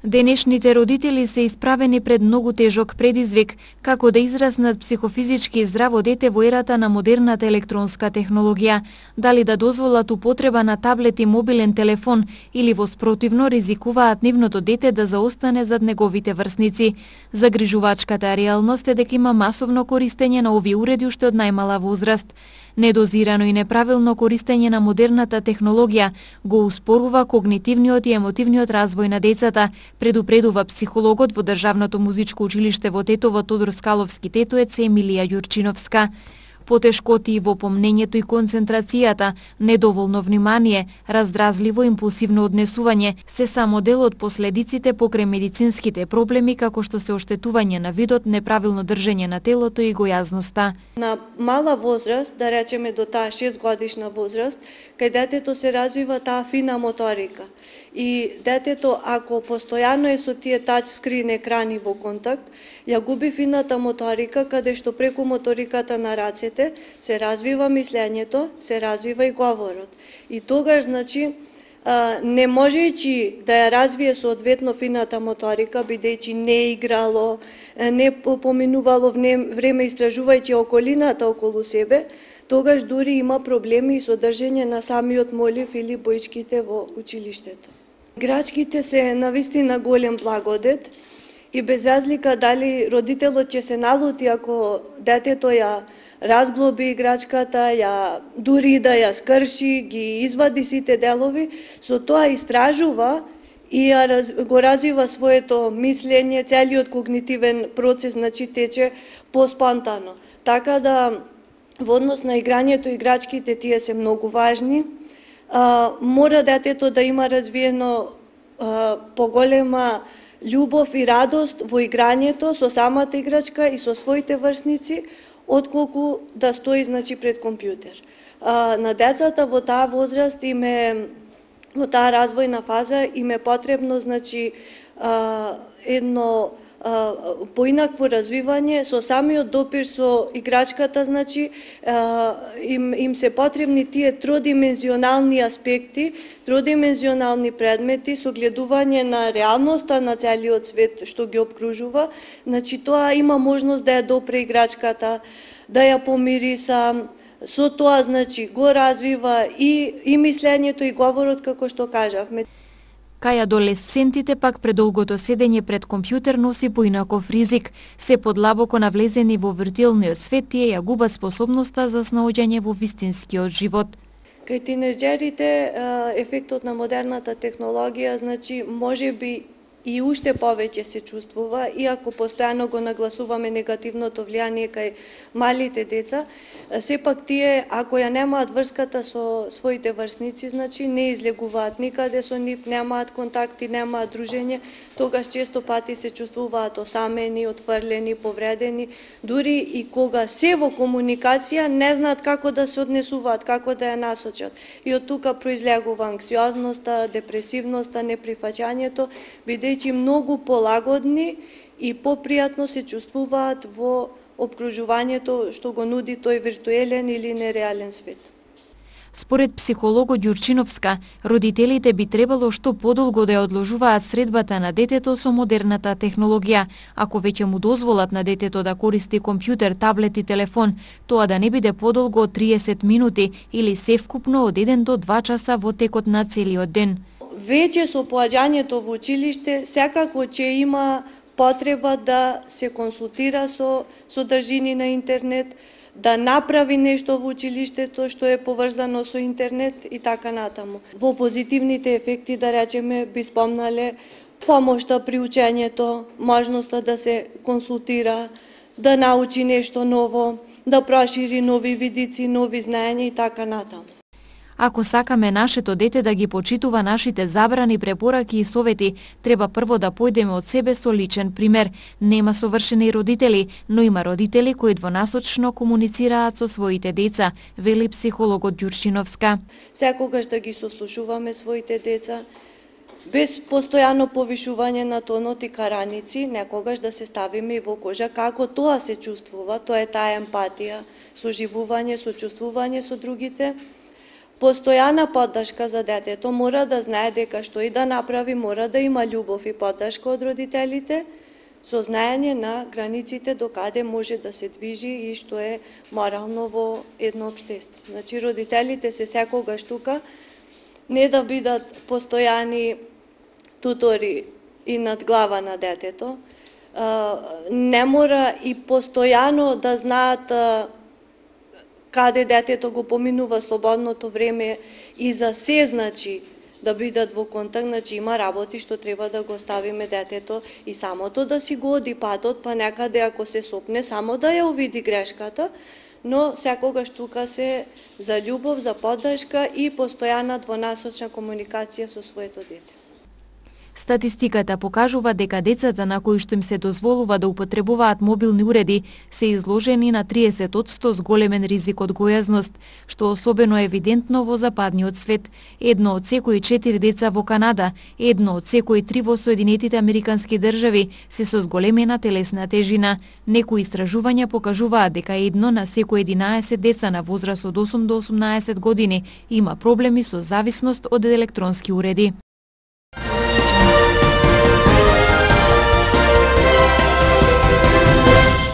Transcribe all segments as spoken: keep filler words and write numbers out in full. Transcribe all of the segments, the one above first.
Денешните родители се исправени пред многу тежок предизвик, како да израснат психофизички здраво дете во ерата на модерната електронска технологија, дали да дозволат употреба на таблет и мобилен телефон или во спротивно ризикуваат нивното дете да заостане зад неговите врсници. Загрижувачката реалност е дека има масовно користење на овие уреди уште од најмала возраст. Недозирано и неправилно користење на модерната технологија го успорува когнитивниот и емотивниот развој на децата, предупредува психологот во Државното музичко училиште во Тетово Тодор Скаловски тетоец Емилија Јурчиновска. Потешкоти во помнењето и концентрацијата, недоволно внимание, раздразливо импулсивно однесување се само дел од последиците покрај медицинските проблеми како што се оштетување на видот, неправилно држење на телото и гојазноста. На мала возраст, да речеме до таа шест годишна возраст, кај детето се развива таа фина моторика. И детето, ако постојано е со тие тачскрин екрани во контакт, ја губи фината моторика, каде што преку моториката на рацете се развива мислењето, се развива и говорот. И тогаш, значи, не можејќи да ја развие соодветно фината моторика, бидејќи не играло, не поминувало време истражувајќи околината околу себе, тогаш дури има проблеми и со држење на самиот молив или боичките во училиштето. Играчките се навистина голем благодет и без разлика дали родителот ќе се налути ако детето ја разглоби играчката, ја дури да ја скрши, ги извади сите делови, со тоа истражува и ја раз, го развива своето мислење, целиот когнитивен процес, значи тече поспонтано. Така да во однос на играњето, играчките тие се многу важни. А, мора детето да има развиено а, поголема љубов и радост во играњето со самата играчка и со своите врсници, отколку да стои, значи, пред компјутер. А, на децата во таа возраст им е, во таа развојна фаза им е потребно, значи, а, едно поинакво развивање, со самиот допир со играчката, значи, им, им се потребни тие тродимензионални аспекти, тродимензионални предмети, согледување на реалноста на целиот свет што ги обкружува, значи тоа има можност да ја допре играчката, да ја помириса, со тоа, значи, го развива и, и мислењето и говорот, како што кажавме. Кај адолесцентите пак предолгото седење пред компјутер носи поинаков ризик. Се подлабоко навлезени во виртуелниот свет, тие ја губат способноста за снаоѓање во вистинскиот живот. Кај тинеџерите ефектот на модерната технологија, значи, може би и уште повеќе се чувствува, иако постојано го нагласуваме негативното влијание кај малите деца, сепак тие, ако ја немаат врската со своите врсници, значи не излегуваат никаде со нив, немаат контакти, немаат дружење, тогаш често пати се чувствуваат осамени, отфрлени, повредени, дури и кога се во комуникација не знаат како да се однесуваат, како да ја насочат. И од тука произлегува анксиозноста, депресивноста, неприфаќањето, бидејќи многу полагодни и попријатно се чувствуваат во обкружувањето што го нуди тој виртуелен или нереален свет. Според психологот Јурчиновска, родителите би требало што подолго да ја одложуваат средбата на детето со модерната технологија. Ако веќе му дозволат на детето да користи компјутер, таблет и телефон, тоа да не биде подолго од триесет минути или севкупно од еден до два часа во текот на целиот ден. Веќе со поаѓањето во училиште, секако ќе има потреба да се консултира со содржини на интернет, да направи нешто во училиштето што е поврзано со интернет и така натаму. Во позитивните ефекти, да речеме, би спомнале помошта при учењето, можноста да се консултира, да научи нешто ново, да прошири нови видици, нови знаења и така натаму. Ако сакаме нашето дете да ги почитува нашите забрани, препораки и совети, треба прво да појдеме од себе со личен пример. Нема совршени родители, но има родители кои двонасочно комуницираат со своите деца, вели психологот Ѓурчиновска. Секогаш да ги сослушуваме своите деца, без постојано повишување на тонот и караници, некогаш да се ставиме и во кожа како тоа се чувствува, тоа е таа емпатија, соживување, сочувствување со другите. Постојана поддршка за детето, мора да знае дека што и да направи, мора да има љубов и поддршка од родителите, со знаење на границите до каде може да се движи и што е морално во едно општество. Значи, родителите се секогаш тука, не да бидат постојани тутори и над глава на детето, не мора и постојано да знаат каде детето го поминува слободното време и за се, значи, да бидат во контакт, значи има работи што треба да го ставиме детето и самото да си го оди патот, па некаде ако се сопне, само да ја увиди грешката, но секогаш тука се за љубов, за поддршка и постојана двонасочна комуникација со своето дете. Статистиката покажува дека децата на кои што им се дозволува да употребуваат мобилни уреди се изложени на триесет одсто зголемен ризик од гојазност, што особено е евидентно во западниот свет. Едно од секои четири деца во Канада, едно од секои три во Соединетите Американски држави се со зголемена телесна тежина. Некои истражувања покажуваат дека едно на секои единаесет деца на возраст од осум до осумнаесет години има проблеми со зависност од електронски уреди.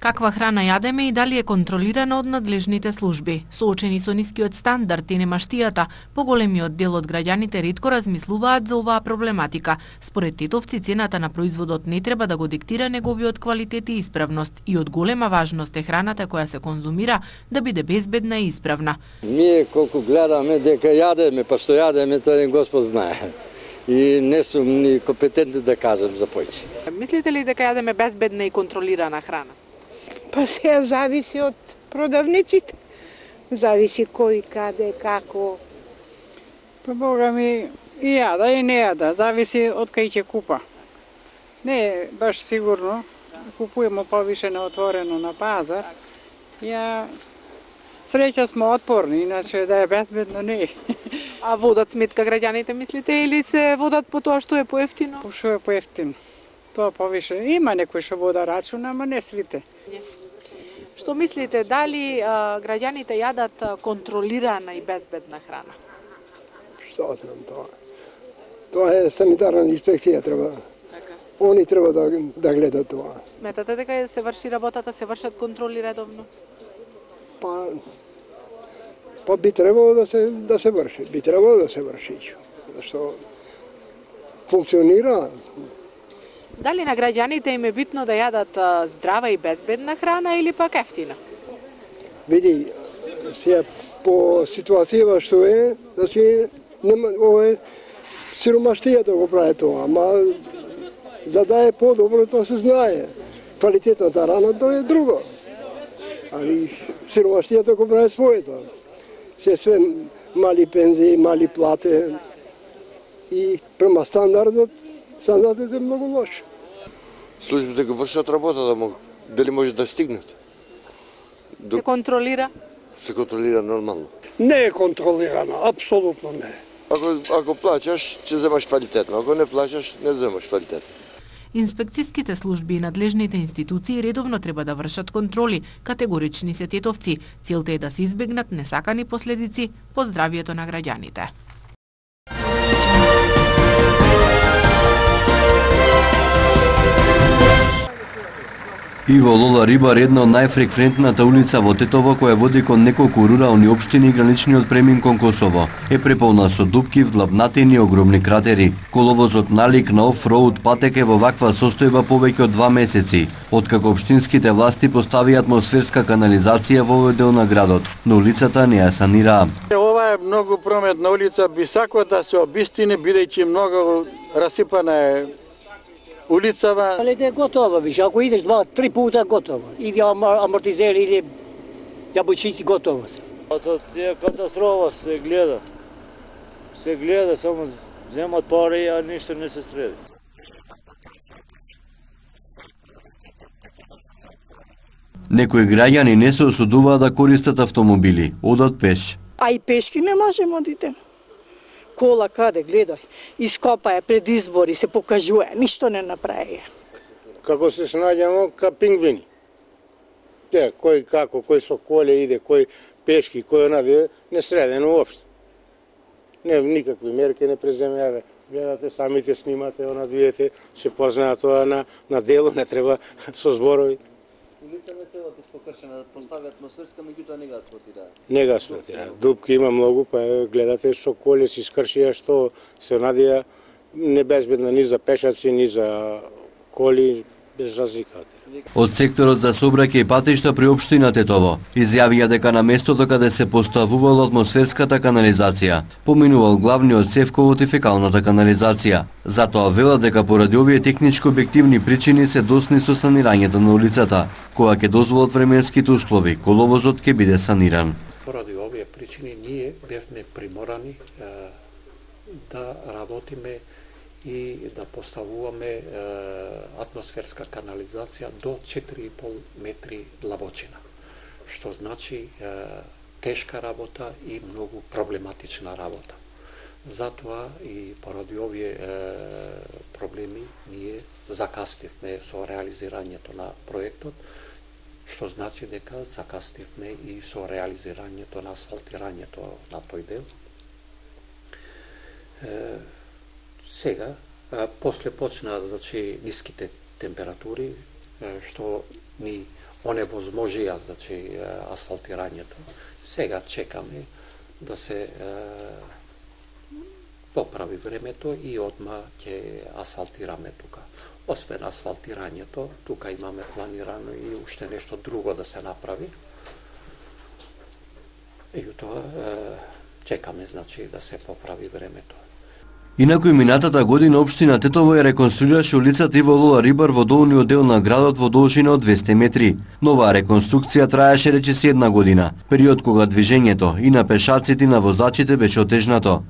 Каква храна јадеме и дали е контролирана од надлежните служби? Соочени со нискиот стандард и немаштијата, поголемиот дел од граѓаните ретко размислуваат за оваа проблематика. Според тетовци, цената на производот не треба да го диктира неговиот квалитет и исправност и од голема важност е храната која се конзумира да биде безбедна и исправна. Ние колку гледаме дека јадеме, па што јадеме, тоа Господ знае. И не сум ни компетентен да кажам за појче. Мислите ли дека јадеме безбедна и контролирана храна? Па се зависи од продавниците. Зависи кој, каде, како. Па Бога ми и јада и не јада, зависи од кај ќе купа. Не е баш сигурно, купуемо повише на отворено на пазар. Ја среќа сме отпорни, иначе да е безбедно не е. А водат сметка граѓаните, мислите, или се водат по тоа што е поевтино? По што е поевтино. Тоа повише. Има некои што вода рачуна, ама не свите. Што мислите, дали а, граѓаните јадат а, контролирана и безбедна храна? Што знам тоа. Тоа е санитарна инспекција треба. Така. Они треба да, да гледат тоа. Сметате дека се врши работата, се вршат контроли редовно? Па, па би требало да се, да се врши. Би требало да се врши. Зашто функционира. Дали на граѓаните им е битно да јадат а, здрава и безбедна храна или пак ефтина? Види, сега по ситуацијава што е, значи нема овој сиромаштијата го прави тоа, ама за да е подобро тоа се знае. Квалитетната храна тоа е друго. Али сиромаштијата го прави своето. Се све мали пензии, мали плате и према стандардот, стандардот е многу лош. Службите го вршат работата, дали може да стигнат? Се контролира? Се контролира нормално. Не е контролирано, апсолутно не. Ако, ако плачаш, ќе земаш квалитетно. Ако не плачаш, не земаш квалитетно. Инспекцијските служби и надлежните институции редовно треба да вршат контроли, категорични се тетовци. Целта е да се избегнат несакани последици по здравието на граѓаните. Иво Лола Рибар, една од најфреквентната улица во Тетово која води кон неколку рурални општини и граничниот премин кон Косово, е преполна со дупки, вдлабнатини и огромни кратери. Коловозот налик на оф-роуд патек е во ваква состојба повеќе од два месеци, откако општинските власти поставија атмосферска канализација во овој дел на градот, но улицата не ја санираа. Ова е многу прометна улица, би сакала да се обистини, бидејќи многу расипана е улицава. Але е готова, виж, ако идеш два, три пута готова. Иде амортизер, иде јабучици, готова се. Тоа е катастрофа, се гледа. Се гледа, само земат пари, а ништо не се среди. Некои граѓани не се осудуваат да користат автомобили, одат пеш. А и пешки не можеме одите. Кола каде, гледај, ископа е пред избори, се покажува, ништо не направи. Како се снаѓамо ка пингвини. Те, кој како, кој со коле иде, кој пешки, кој онаде, не средено уопшто. Не, никакви мерки не преземеа. Гледате, самите снимате, она видите, се познаат тоа на, на дело, не треба со зборови. Улица на целата покршена, постави атмосферска, меѓутоа не га асфалтира. Не га асфалтира. Дупки има многу, па гледате со коли се искршија што се надија небезбедна ни за пешаци, ни за коли, без разлика. Од секторот за сообраќај и патишта при општина Тетово изјавија дека на местото каде се поставувала атмосферската канализација поминувал главниот цевковод и фекалната канализација. Затоа велат дека поради овие технички објективни причини се досни со санирањето на улицата, која ќе дозволат временските услови, коловозот ќе биде саниран. Поради овие причини ние бевме приморани е, да работиме и да поставуваме е, атмосферска канализација до четири и пол метри длабочина, што значи е, тешка работа и многу проблематична работа. Затоа и поради овие е, проблеми ние закаснивме со реализирањето на проектот, што значи дека закаснивме и со реализирањето на асфалтирањето на тој дел. Е, Сега, после почна значи ниските температури што ни оневозможија значи асфалтирањето. Сега чекаме да се поправи времето и одма ќе асфалтираме тука. Освен асфалтирањето, тука имаме планирано и уште нешто друго да се направи. И тоа чекаме значи да се поправи времето. Инаку и минатата година општина Тетово ја реконструираше улицата Иво Лола Рибар во долниот дел на градот во должина од двесте метри. Новаа реконструкција траеше речиси една година, период кога движењето и на пешаците и на возачите беше отежнато.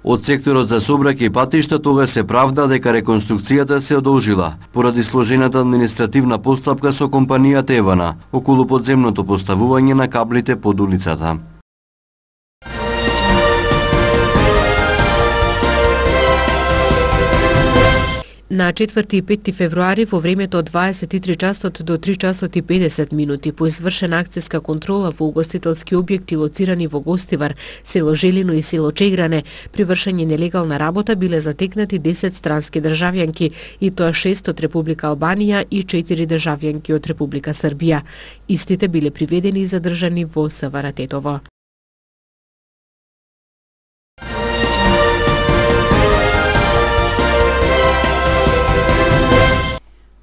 Од секторот за сообраќај и патишта тога се правда дека реконструкцијата се одолжила поради сложената административна постапка со компанијата Евана околу подземното поставување на каблите под улицата. На четврти и пети февруари во времето од дваесет и три часот до три часот и педесет минути по извршена акцијска контрола во угостителски објекти лоцирани во Гостивар, село Желино и село Чегране, при вршење нелегална работа биле затекнати десет странски државјанки, и тоа шест од Република Албанија и четири државјанки од Република Србија. Истите биле приведени и задржани во СВР Тетово.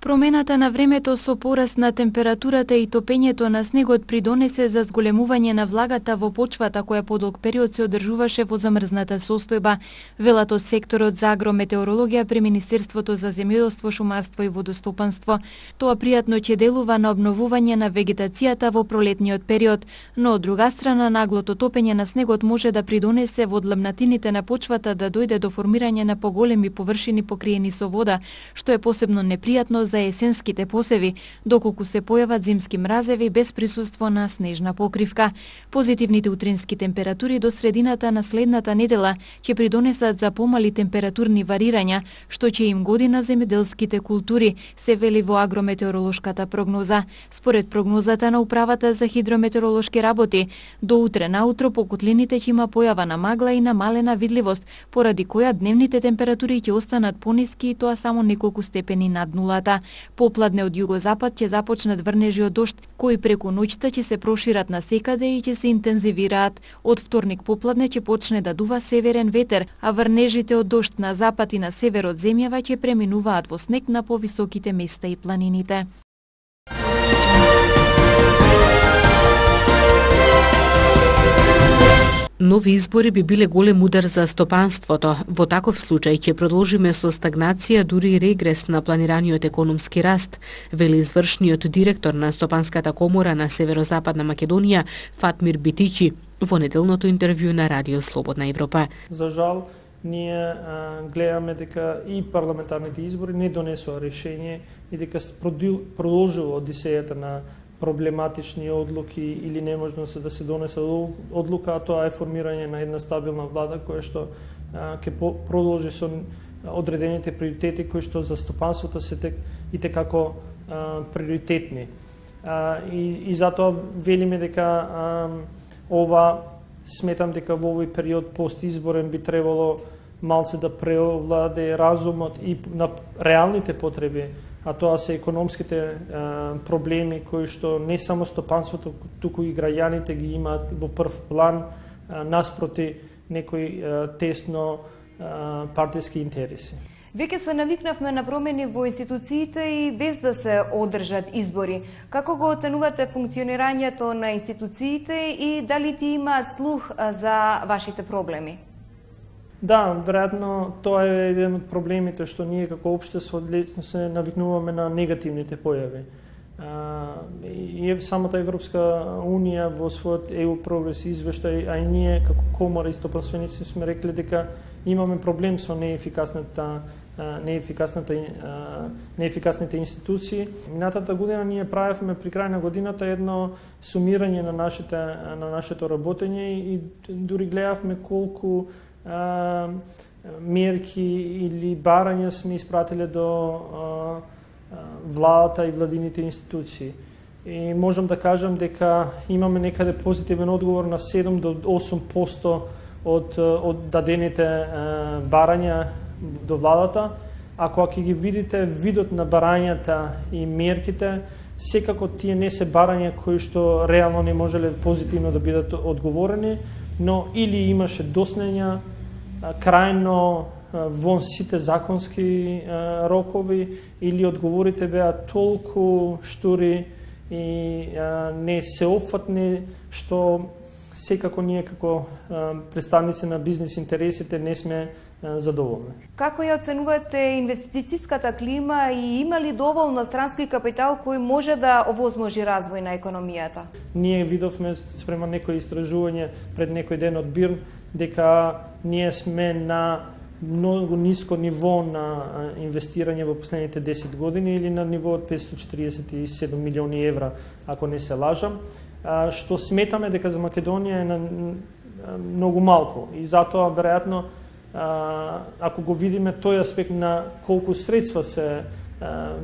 Промената на времето со пораст на температурата и топењето на снегот придонесе за зголемување на влагата во почвата која подолг период се одржуваше во замрзната состојба, велат од секторот за агрометеорологија при Министерството за земјоделство, шумарство и водостопанство. Тоа пријатно ќе делува на обновување на вегетацијата во пролетниот период, но од друга страна наглото топење на снегот може да придонесе во длабнатините на почвата да дојде до формирање на поголеми површини покриени со вода, што е посебно непријатно за есенските посеви, доколку се појават зимски мразеви без присуство на снежна покривка. Позитивните утрински температури до средината на следната недела ќе придонесат за помали температурни варирања, што ќе им годи на земјоделските култури, се вели во агрометеоролошката прогноза. Според прогнозата на Управата за хидрометеоролошки работи, до утре наутро по котлините ќе има појава на магла и намалена видливост, поради која дневните температури ќе останат пониски и тоа само неколку степени над нулата. Попладне од југозапад ќе започнат врнежи од дожд, кои преку ноќта ќе се прошират насекаде и ќе се интензивираат. Од вторник попладне ќе почне да дува северен ветер, а врнежите од дожд на запад и на север од земјава ќе преминуваат во снег на повисоките места и планините. Нови избори би биле голем удар за стопанството. Во таков случај ќе продолжиме со стагнација, дури и регрес на планираниот економски раст, вели извршниот директор на Стопанската комора на Северозападна Македонија Фатмир Битичи во неделното интервју на Радио Слободна Европа. За жал, ние а, гледаме дека и парламентарните избори не донесоа решение и дека продолжува одисејата на проблематични одлуки или неможност да се донесе одлука, а тоа е формирање на една стабилна влада која што ќе продолжи со одредените приоритети кои што за стопанството се тек и текако а, приоритетни. А, и, и затоа велиме дека а, ова Сметам дека во овој период постизборен би требало малце да преовладе разумот и на реалните потреби, а тоа се економските а, проблеми кои што не само стопанството, туку и граѓаните ги имаат во прв план а, наспроти некои а, тесно а, партиски интереси. Веќе се навикнавме на промени во институциите и без да се одржат избори. Како го оценувате функционирањето на институциите и дали ти имаат слух за вашите проблеми? Да, веројатно тоа е еден од проблемите што ние како општество лесно се навикнуваме на негативните појави. И самата Европска Унија во својот е ю Прогрес извештај, а и ние како комора и стопанственици сме рекле дека имаме проблем со неефикасната неефикасната неефикасните институции. Минатата година ние правевме при крај на годината едно сумирање на нашите на нашето работење и дури гледавме колку а, мерки или барања сме испратиле до а, владата и владините институции. И можам да кажам дека имаме некаде позитивен одговор на седум до осум проценти од од дадените а, барања до владата. Ако ќе ги видите видот на барањата и мерките, секако тие не се барања кои што реално не можеле позитивно да бидат одговорени, но или имаше доснења крајно вон сите законски рокови, или одговорите беа толку штури и не сеопфатни, што секако ние како представници на бизнес интересите не сме задоволни. Како ја оценувате инвестицијската клима и има ли доволно странски капитал кој може да овозможи развој на економијата? Ние видовме спрема некои истражување пред некој ден од Бирн дека ние сме на многу ниско ниво на инвестирање во последните десет години или на ниво од петстотини четиридесет и седум милиони евра, ако не се лажам, што сметаме дека за Македонија е на многу малку и затоа веројатно ако го видиме тој аспект на колку средства се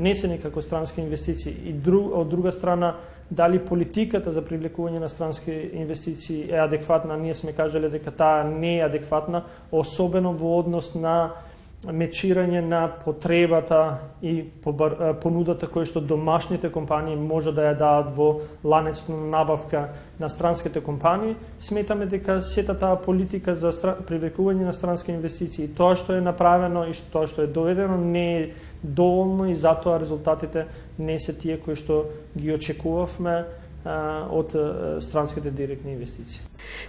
несени како странски инвестиции и друг, од друга страна дали политиката за привлекување на странски инвестиции е адекватна, ние сме кажале дека таа не е адекватна, особено во однос на мечирање на потребата и понудата која што домашните компании може да ја дадат во ланецот на набавка на странските компании. Сметаме дека сета таа политика за привлекување на странски инвестиции, тоа што е направено и тоа што е доведено не е доволно и затоа резултатите не се тие кои што ги очекувавме од странските директни инвестиции.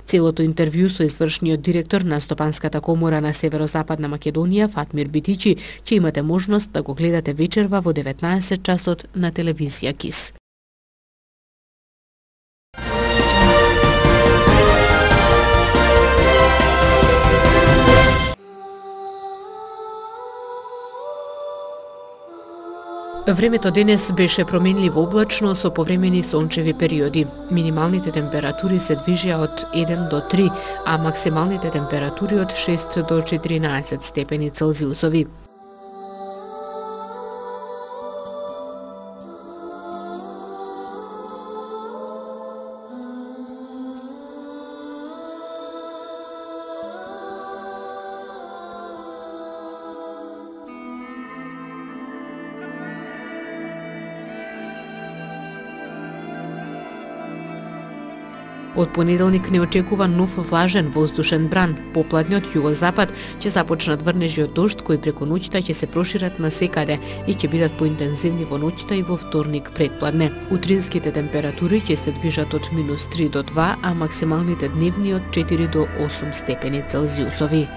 Целото интервју со извршниот директор на Стопанската комора на Северозападна Македонија, Фатмир Битичи, ќе имате можност да го гледате вечерва во деветнаесет часот на телевизија КИС. Времето денес беше променливо облачно со повремени сончеви периоди. Минималните температури се движеа од еден до три, а максималните температури од шест до четиринаесет степени Целзиусови. Од понеделник не очекува нов влажен воздушен бран. Попладне од југозапад ќе започнат врнежи од дожд кои преку ноќта ќе се прошират на секаде и ќе бидат поинтензивни во ноќта и во вторник предпладне. Утринските температури ќе се движат од минус три до два, а максималните дневни од четири до осум степени Целзиусови.